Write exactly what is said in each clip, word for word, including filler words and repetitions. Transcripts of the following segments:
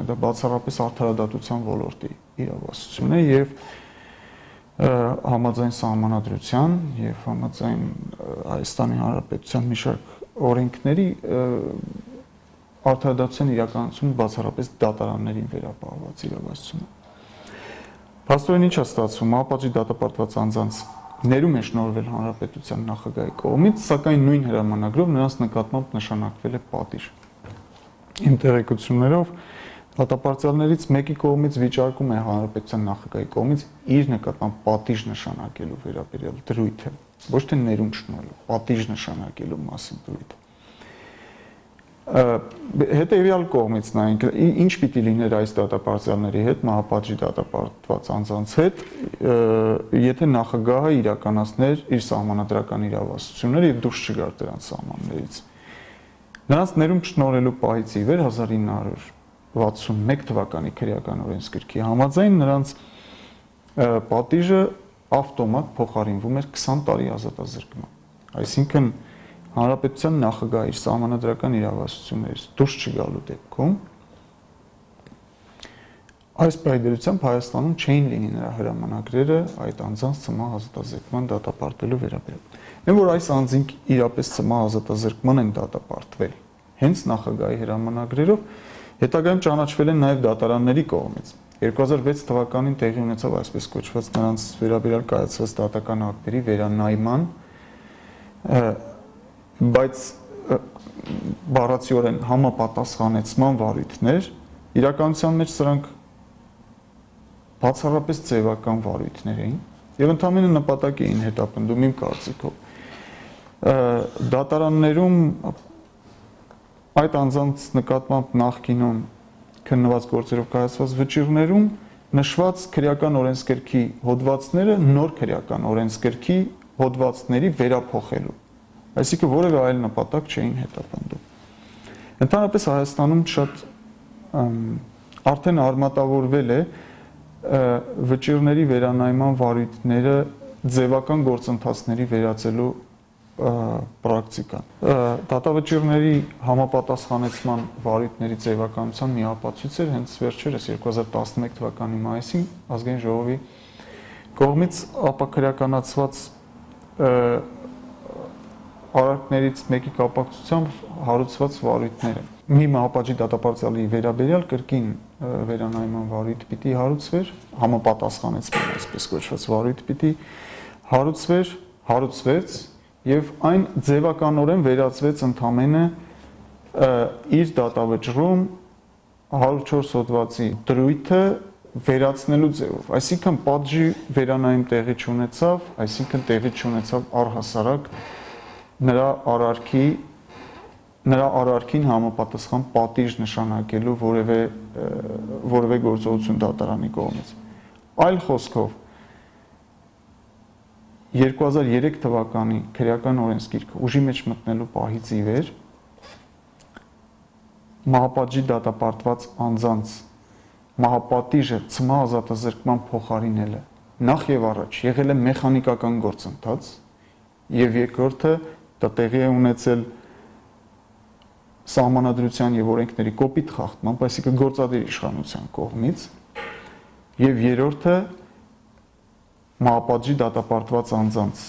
Դա բացառապես արդարադատության ոլորտի իրավասություն է եւ համաձայն սահմանադրության եւ համաձայն Հայաստանի Հանրապետության մի շարք օրենքների արդարադատության իրականացումը բացառապես դատարաններին վերապահված իրավասություն է։ Փաստորեն ինչ է ստացվում, մահապատժի դատապարտված անձանց ներում է շնորհվել Հանրապետության նախագահի կողմից, սակայն նույն հրամանագրով նրանց նկատմամբ նշանակվել է պատիժ։ Իմ տեղեկություններով դատապարտյալներից մեկի կողմից վիճարկում է Հանրապետության նախագահի կողմից իր նկատմամբ պատիժ նշանակելու վերաբերյալ դրույթը, ոչ թե ներում շնորհելու, պատիժ նշանակելու մասին դրույթը։ Հետևյալ կողմից նայենք, ինչ պիտի լիներ այս դատապարտյալների հետ, մահապատժի դատապարտված անձանց հետ, եթե նախագահը իրականացներ իր սահմանադրական իրավասությունները եւ դուրս չգար դրանց սահմաններից։ Նրանց ներում շնորհելու պահից ի վեր հազար ինը հարյուր վաթսունմեկ թվականի քրեական օրենսգրքի համաձայն նրանց պատիժը ավտոմատ փոխարինվում էր քսան տարի ազատազրկման։ Այսինքն Հանրապետության նախագահը իր սահմանադրական իրավասություններից դուրս չգալու դեպքում այս պայմանությամբ Հայաստանում չէին լինի նրա հրամանագրերը այդ անձանց ցմահ ազատազրկման դատապարտելու վերաբերյալ։ Այն որ այս անձինք իրապես ցմահ ազատազրկման են դատապարտվել հենց նախագահի հրամանագրերով, հետագայում ճանաչվել են նաև դատարանների կողմից։ երկու հազար վեց թվականին տեղի ունեցավ այսպես կոչված նրանց վերաբերյալ կայացված դատական ակտերի վերանայման, բայց բառացիորեն համապատասխանեցման վարույթներ, իրականության մեջ սրանք բացառապես ձևական վարույթներ էին եւ ընդհանրապես նպատակ էին հետապնդում իմ կարծիքով։ Դատարաններում այդ անձանց նկատմամբ նախկինում քննված գործերով կայացված վճիռներում նշված քրեական օրենսգրքի հոդվածները նոր քրեական օրենսգրքի հոդվածների վերափոխելու, այսինքն որևէ այլ նպատակ չէին հետապնդում։ Ընդհանրապես Հայաստանում շատ արդեն արմատավորվել է վճիռների վերանայման վարույթները ձևական գործընթացների վերածելու պրակտիկան։ Դատավճիռների համապատասխանեցման վարույթների ձևականության մի ապացույց էր հենց վերջերս երկու հազար տասնմեկ թվականի մայիսին ազգային ժողովի կողմից ապաքրեականացված արարքներից մեկի կապակցությամբ հարուցված վարույթները։ Մի մահապատժի դատապարտյալի վերաբերյալ կրկին վերանայման վարույթ պիտի հարուցվեր, համապատասխանեցման այսպես կոչված վարույթ պիտի հարուցվեր, հարուցվեց եւ այն ձևականորեն վերածվեց ընդամենը իր դատավճռում հարյուր չորս հոդվածի դրույթը վերացնելու ձևով, այսինքն պատժի վերանայում տեղի չունեցավ, այսինքն տեղի չունեցավ առհասարակ նրա արարքի նրա արարքին համապատասխան պատիժ նշանակելու որևէ որևէ գործողություն դատարանի կողմից։ Այլ խոսքով երկու հազար երեք թվականի քրեական օրենսգիրքը ուժի մեջ մտնելու պահից ի վեր մահապատժի դատապարտված անձանց մահապատիժը ցմահ ազատազրկման փոխարինելը նախ եւ առաջ եղել է մեխանիկական գործընթաց եւ երկրորդը դա տեղի է ունեցել սահմանադրության եւ օրենքների կոպիտ խախտմամբ, այսինքն գործադիր իշխանության կողմից, եւ երրորդը մահապատժի դատապարտված անձանց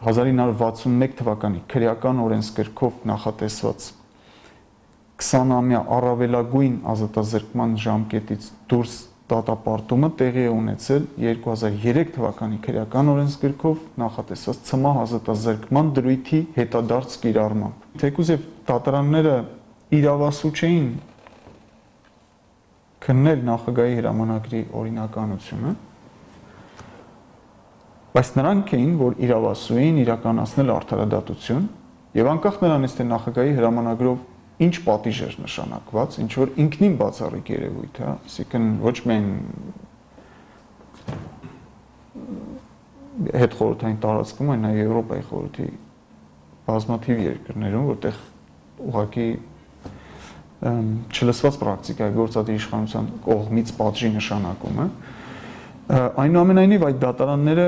հազար ինը հարյուր վաթսունմեկ թվականի քրեական օրենսգրքով նախատեսված քսանամյա առավելագույն ազատազրկման ժամկետից դուրս դատապարտումը տեղի է ունեցել երկու հազար երեք թվականի քրեական օրենսգրքով նախատեսված ցմահ ազատազրկման դրույթի հետադարձ կիրառմամբ։ Թեկուզ եւ դատարանները իրավասու չէին քննել նախագահի հրամանագրի օրինականությունը, բայց նրանք էին, որ իրավասու էին իրականացնել արդարադատություն եւ անկախ նրանից թե նախագահի հրամանագրով ինչ պատիժ էր նշանակված, ինչ որ ինքնին բացառիկ երևույթ է, այսինքն ոչ միայն հետխորհրդային տարածքում, այլ նաև Եվրոպայի խորհրդի բազմաթիվ երկրներում, որտեղ ուղղակի չլսված պրակտիկա է գործադիր իշխանության կողմից պատժի նշանակումը, այնուամենայնիվ այդ դատարանները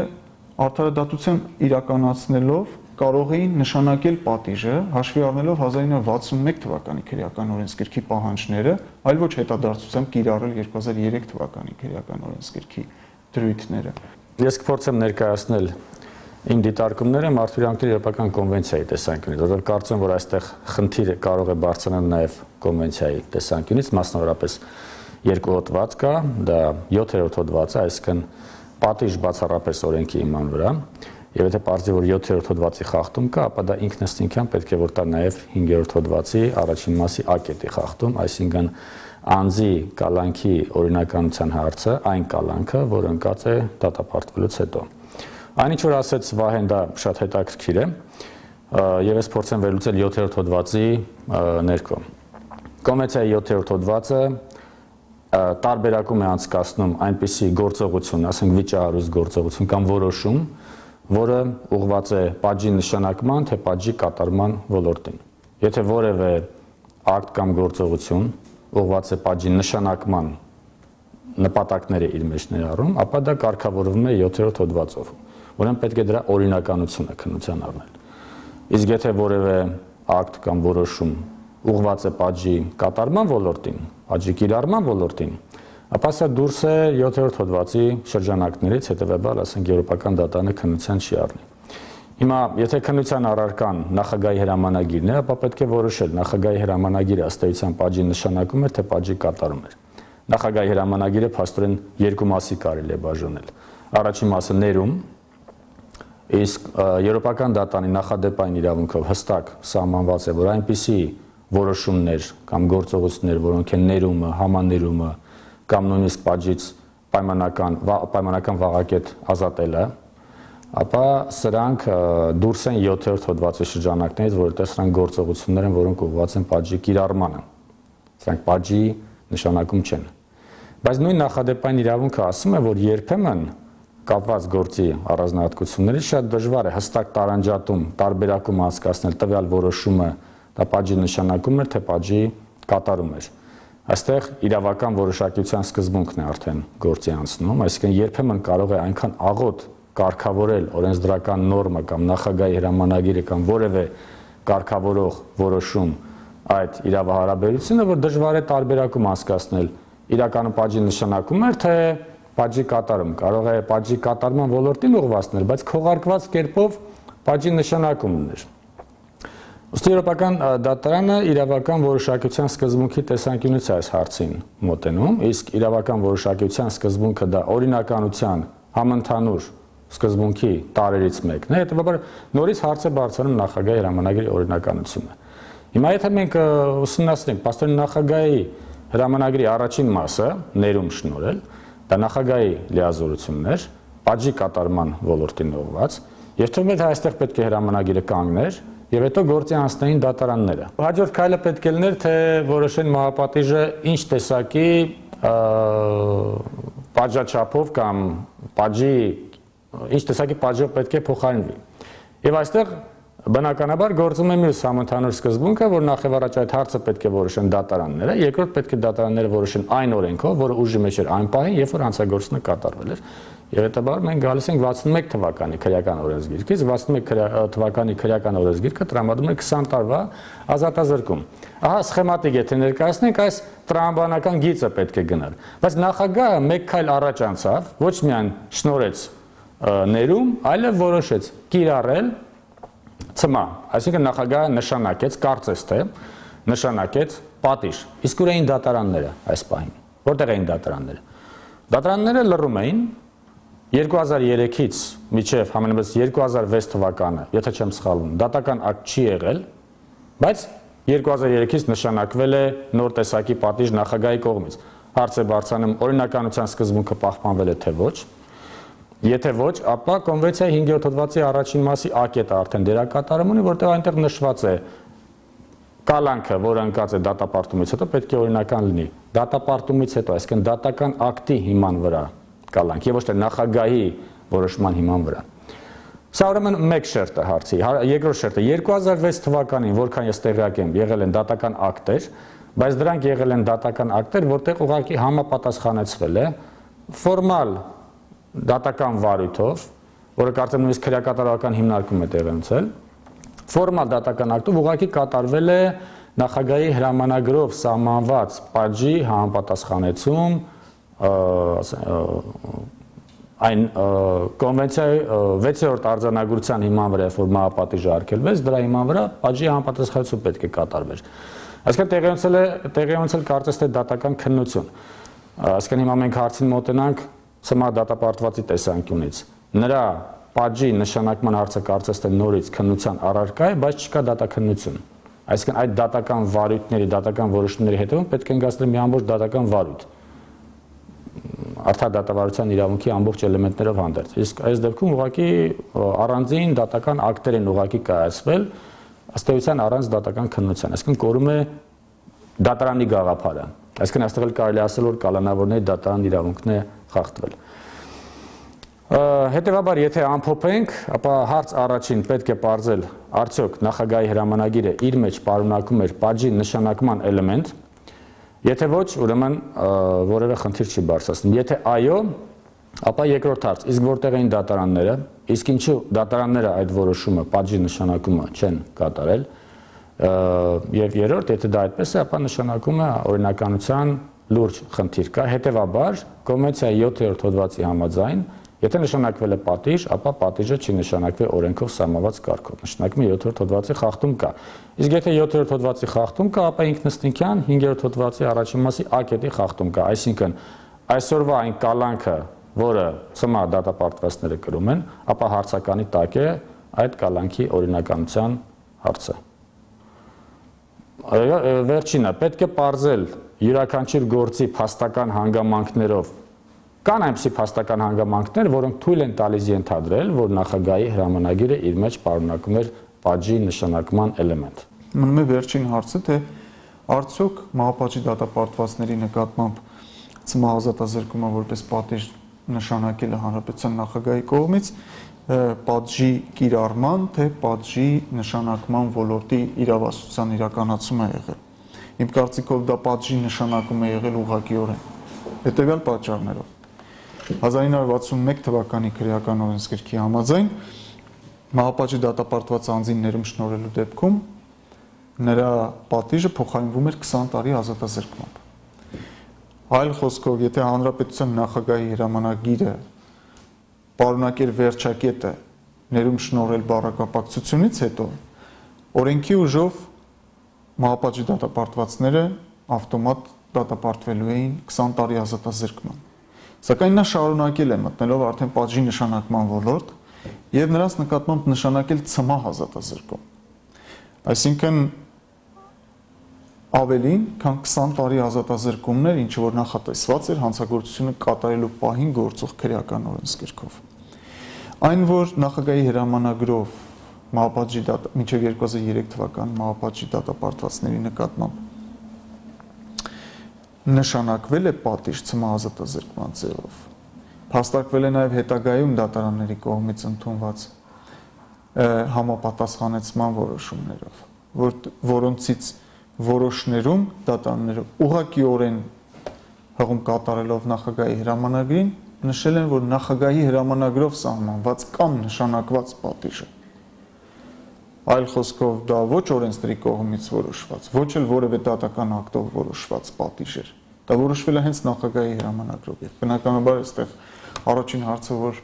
արդարադատություն իրականացնելով կարող էին նշանակել պատիժը հաշվի առնելով հազար ինը հարյուր վաթսունմեկ թվականի քրեական օրենսգրքի պահանջները, այլ ոչ հետադարձությամբ կիրառել երկու հազար երեք թվականի քրեական օրենսգրքի դրույթները։ Ես կփորձեմ ներկայացնել իմ դիտարկումները Մարդու իրավական կոնվենցիայի տեսանկյունից, որովհետև կարծում եմ, որ այստեղ խնդիրը կարող է բարձրանալ նաև կոնվենցիայի տեսանկյունից, մասնավորապես երկու հոդված կա, դա յոթերորդ հոդվածը, այսինքն պատիժ բացառապես օրենքի հիման վրա, եւ եթե պարզի որ յոթերորդ հոդվածի խախտում կա, ապա դա ինքնըստինքյան պետք է որ տա նաև հինգերորդ հոդվածի առաջին մասի ա կետի խախտում, այսինքն անձի կալանքի օրինականության հարցը, այն կալանքը, որ ընկած է դատապարտվելուց հետո։ Այնինչ որ ասեց Վահեն, դա շատ հետաքրքիր է, եւ ես փորձեմ վերլուծել յոթերորդ հոդվածի ներքո։ Կոնվենցիայի յոթերորդ հոդվածը տարբերակում է անցկացնում այնպիսի գործողություն, ասենք վիճահարույց գործողություն կամ որոշում, որը ուղղված է պատժի նշանակման, թե պատժի կատարման ոլորտին։ Եթե որևէ ակտ կամ գործողություն ուղղված է պատժի նշանակման նպատակները իր մեջ ներառում, ապա դա կարգավորվում է յոթերորդ հոդվածով, ուրեմն պետք է դրա օրինականությունը քննության առնել։ Իսկ եթե որևէ ակտ կամ որոշում ուղղված է պատժի կատարման ոլորտին, պատժի կիրառման ոլորտին, ապա սա դուրս է յոթերորդ հոդվածի շրջանակներից, հետևաբար, ասենք, եվրոպական դատարանը քննության չի առնի։ Հիմա, եթե քննության առարկան նախագահի հրամանագիրն է, ապա պետք է որոշել նախագահի հրամանագիրը ըստ էության պատժի նշանակում է, թե պատժի կատարում է։ Նախագահի հրամանագիրը փաստորեն երկու մասի կարելի է բաժանել։ Առաջին մասը ներում, իսկ եվրոպական դատարանի նախադեպային իրավունքով հստակ սահմանված է, որ այնպիսի որոշումներ կամ գործողություններ, որոնք են ներումը, համաներումը կամ նույնիսկ պատժից պայմանական պայմանական վաղակետ ազատելը, ապա սրանք դուրս են յոթերորդ հոդվածի շրջանակներից, որովհետև սրանք գործողություններ են, որոնք ուղղված են պատժի կիրառմանը։ Սրանք պատժի նշանակում չեն։ Բայց նույն նախադեպային իրավունքը ասում է, որ երբեմն կապված գործի առանձնահատկություններից շատ դժվար է հստակ տարանջատում, տարբերակում անցկացնել տվյալ որոշումը դա պատժի նշանակում էր, թե պատժի կատարում էր։ Այստեղ իրավական որոշակիության սկզբունքն է արդեն գործի անցնում, այսինքն երբեմն կարող է այնքան աղոտ կարգավորել օրենսդրական նորմը կամ նախագահի հրամանագիրը կամ որևէ կարգավորող որոշում այդ իրավահարաբերությունը, որ դժվար է տարբերակում անցկացնել իրականում պատժի նշանակում էր, թե պատժի կատարում, կարող է պատժի կատարման ոլորտին ուղղվածներ, բայց քողարկված կերպով պատժի նշանակումն էր։ Ըստ եվրոպական դատարանը իրավական որոշակիության սկզբունքի տեսանկյունից է այս հարցին մոտենում, իսկ իրավական որոշակիության սկզբունքը դա օրինականության համընդհանուր սկզբունքի տարրերից մեկն է, հետևաբար նորից հարց է բարձրանում նախագահի հրամանագրի օրինականությունը։ Հիմա եթե մենք ուսումնասիրենք պաստորեն նախագահի հրամանագրի առաջին մասը, ներում շնորհել, դա նախագահի լիազորությունն էր, պատժի կատարման ոլորտին ուղղված, եւ թվում է թե այստեղ պետք է հրամանագիրը կանգներ եւ հետո գործի անցնեին դատարանները։ Հաջորդ քայլը պետք է լիներ, թե որոշեն մահապատիժը ինչ տեսակի պատժաչափով կամ պատժի ինչ տեսակի պատժով պետք է փոխարինվի։ Եվ այստեղ բնականաբար գործում է մյուս համընդհանուր սկզբունքը, որ նախ եւ առաջ այդ հարցը պետք է որոշեն դատարանները, երկրորդ պետք է դատարանները որոշեն այն օրենքով, որը ուժի մեջ էր այն պահին, երբ որ հանցագործությունը կատարվել էր։ Եվ հետաբար մենք գալիս ենք վաթսունմեկ թվականի քրեական օրենսգիրքից, վաթսունմեկ թվականի քրեական օրենսգիրքը տրամադրում է քսան տարվա ազատազրկում։ Ահա սխեմատիկ եթե ներկայացնենք, այս տրամաբանական գիծը պետք է գնալ։ Բայց նախագահը մեկ քայլ առաջ անցավ, ոչ միայն շնորհեց ներում, այլև որոշեց կիրառել ցմա, այսինքն նախագահը նշանակեց, կարծես թե նշանակեց պատիժ։ Իսկ ուր էին դատարանները այս պահին։ Որտեղ էին դատարանները։ Դատարանները լռում էին երկու հազար երեքից մինչև համենայնպես երկու հազար վեց թվականը, եթե չեմ սխալվում, դատական ակտ չի եղել, բայց երկու հազար երեքից նշանակվել է նոր տեսակի պատիժ նախագահի կողմից։ Հարց է բարձրանում օրինականության սկզբունքը պահպանվել է թե ոչ։ Եթե ոչ, ապա կոնվենցիայի հինգերորդ հոդվածի առաջին մասի ա կետը արդեն դերակատարում ունի, որտեղ այնտեղ նշված է կալանքը, որը ընկած է դատապարտումից հետո պետք է օրինական լինի։ Դատապարտումից հետո, այսինքն դատական ակտի հիման վրա կալանք, եւ ոչ թե նախագահի որոշման հիման վրա։ Սա ուրեմն մեկ շերտը հարցի, երկրորդ շերտը երկու հազար վեց թվականին, որքան ես տեղյակ եմ, եղել են դատական ակտեր, բայց դրանք եղել են դատական ակտեր, որտեղ ուղղակի համապատասխանեցվել է ֆորմալ դատական վարույթով, որը կարծեմ նույնիսկ քրեակատարողական հիմնարկում է տեղի ունեցել, Ֆորմալ դատական ակտով ուղղակի կատարվել է նախագահի հրամանագրով սահմանված պատժի համապատասխանեցում այն կոնվենցիայի վեցերորդ արձանագրության հիման վրա, որ մահապատիժը արգելվեց, դրա հիման վրա պատժի համապատասխանություն պետք է կատարվեր։ Այսինքն տեղի ունեցել է տեղի ունեցել կարծես թե դատական քննություն։ Այսինքն հիմա մենք հարցին մոտենանք ցմահ դատապարտվածի տեսանկյունից։ Նրա պատժի նշանակման հարցը կարծես թե նորից քննության առարկա է, բայց չկա դատաքննություն։ Այսինքն այդ դատական վարույթների, դատական որոշումների հետևում պետք է ընկալել մի ամբողջ դատական վարույթ։ Արդար դատավարության իրավունքի ամբողջ էլեմենտներով հանդերձ։ Իսկ այս դեպքում ուղղակի առանձին դատական ակտեր են ուղղակի կայացվել, ըստ էության առանց դատական քննության։ Այսինքն կորում է դատարանի գաղափարը։ Այսինքն այստեղ էլ կարելի ասել, որ կալանավորների դատարան իրավունքն է խախտվել։ Հետևաբար, եթե ամփոփենք, ապա հարց առաջին պետք է պարզել, արդյոք նախագահի հրամանագիրը իր մեջ պարունակում էր պատժի նշանակման էլեմենտ, եթե ոչ, ուրեմն որևէ խնդիր չի բարձրացնում։ Եթե այո, ապա երկրորդ հարց, իսկ որտեղ էին դատարանները, իսկ ինչու դատարանները այդ որոշումը, պատժի նշանակումը չեն կատարել, եւ երրորդ, եթե դա այդպես է, ապա նշանակում է օրինականության լուրջ խնդիր կա, հետեւաբար կոնվենցիայի յոթերորդ հոդվածի համաձայն, եթե նշանակվել է պատիժ, ապա պատիժը չի նշանակվել օրենքով սահմանված կարգով, նշանակում է յոթերորդ հոդվածի խախտում կա։ Իսկ եթե յոթերորդ հոդվածի խախտում կա, ապա ինքնըստինքյան հինգերորդ հոդվածի առաջին մասի ա կետի խախտում կա, այսինքն այսօրվա այն կալանքը, որը ցմահ դատապարտվածները կրում են, ապա հարցականի տակ է այդ կալանքի օրինականության հարցը։ Վերջինը, պետք է պարզել յուրաքանչյուր գործի փաստական հանգամանքներով։ Կան այնպիսի փաստական հանգամանքներ, որոնք թույլ են տալիս ենթադրել, որ նախագահի հրամանագիրը իր մեջ պարունակում էր պատժի նշանակման էլեմենտ։ Մնում է վերջին հարցը, թե արդյոք մահապատժի դատապարտվածների նկատմամբ ցմահ ազատազրկումը որպես պատիժ նշանակելը հանրապետության նախագահի կողմից պատժի կիրառման, թե պատժի նշանակման ոլորտի իրավասության իրականացում է եղել։ Իմ կարծիքով դա պատժի նշանակում է եղել ուղղակիորեն, հետևյալ պատճառներով։ հազար ինը հարյուր վաթսունմեկ թվականի քրեական օրենսգրքի համաձայն մահապատժի դատապարտված անձին ներում շնորհելու դեպքում նրա պատիժը փոխարինվում էր քսան տարի ազատազրկմամբ։ Այլ խոսքով, եթե հանրապետության նախագահի հրամանագիրը պարունակեր վերջակետը ներում շնորհել բառակապակցությունից հետո, օրենքի ուժով մահապատժի դատապարտվածները ավտոմատ դատապարտվելու էին քսան տարի ազատազրկման։ Սակայն նա շարունակել է մտնելով արդեն պատժի նշանակման ոլորտ եւ նրանց նկատմամբ նշանակել ցմահ ազատազրկում։ Այսինքն ավելին, քան քսան տարի ազատազրկումներ, ինչ որ նախատեսված էր հանցագործությունը կատարելու պահին գործող քրեական օրենսգրքով։ Այն, որ նախագահի հրամանագրով մահապատժի դատա մինչև երկու հազար երեք թվական մահապատժի դատապարտվածների նկատմամբ նշանակվել է պատիժ ցմահ ազատազրկման ձևով, փաստարկվել է նաև հետագայում դատարանների կողմից ընդունված համապատասխանեցման որոշումներով, որ, որոնցից որոշներում դատարանները ուղղակիորեն հղում կատարելով նախագահի հրամանագրին նշել են, որ նախագահի հրամանագրով սահմանված կամ նշանակված պատիժը, այլ խոսքով դա ոչ օրենսդրի կողմից որոշված, ոչ էլ որևէ դատական ակտով որոշված պատիժ էր, դա որոշվել է հենց նախագահի հրամանագրով եւ բնականաբար այստեղ առաջին հարցը, որ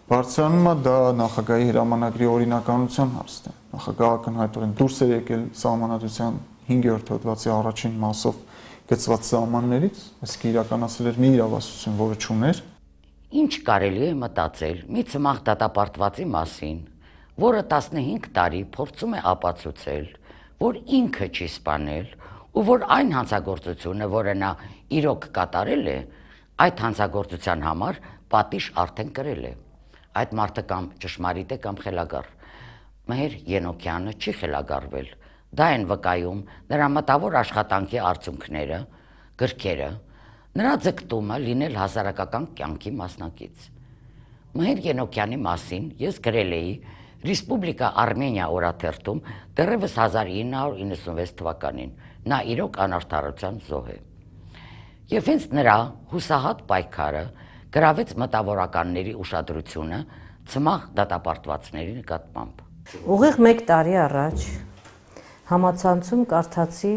բարձրանում է, դա նախագահի հրամանագրի օրինականության հարցն է։ Նախագահը ակնհայտորեն դուրս է եկել սահմանադրության հինգերորդ հոդվածի առաջին մասով գծված սահմաններից, իսկ իրականացել էր մի իրավասություն, որը չուներ։ Ինչ կարելի է մտածել մի ցմահ դատապարտվածի մասին, որը տասնհինգ տարի փորձում է ապացուցել, որ ինքը չի սպանել ու որ այն հանցագործությունը, որը նա իրոք կատարել է, այդ հանցագործության համար պատիժ արդեն կրել է։ Այդ մարդը կամ ճշմարիտ է կամ խելագար։ Մհեր Ենոքյանը չի խելագարվել։ Դա են վկայում նրա մտավոր աշխատանքի արդյունքները, գրքերը, նրա ձգտումը լինել հասարակական կյանքի մասնակից։ Մհեր Ենոքյանի մասին ես գրել էի Ռեսպուբլիկա Արմենիա օրաթերթում դեռևս հազար ինը հարյուր իննսունվեց թվականին, նա իրոք անարդարության զոհ է։ Եվ հենց նրա հուսահատ պայքարը գրավեց մտավորականների ուշադրությունը ցմահ դատապարտվածների նկատմամբ։ Ուղիղ մեկ տարի առաջ համացանցում կարդացի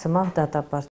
Ցմահ դատապարտի